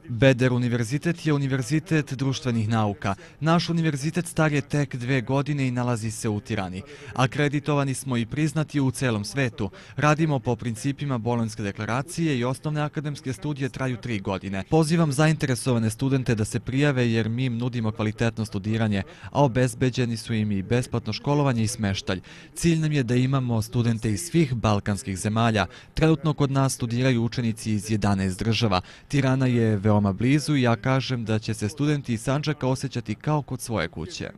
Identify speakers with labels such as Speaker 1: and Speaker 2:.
Speaker 1: Beder univerzitet je univerzitet društvenih nauka. Naš univerzitet star je tek 2 godine i nalazi se u Tirani. Akreditovani smo i priznati u celom svetu. Radimo po principima Bolonjske deklaracije i osnovne akademske studije traju 3 godine. Pozivam zainteresovane studente da se prijave jer mi im nudimo kvalitetno studiranje, a obezbeđeni su im i besplatno školovanje i smeštalj. Cilj nam je da imamo studente iz svih balkanskih zemalja. Trenutno kod nas studiraju učenici iz 11 država. Tirana je veoma blizu i ja kažem da će se studenti iz Sandžaka osjećati kao kod svoje kuće.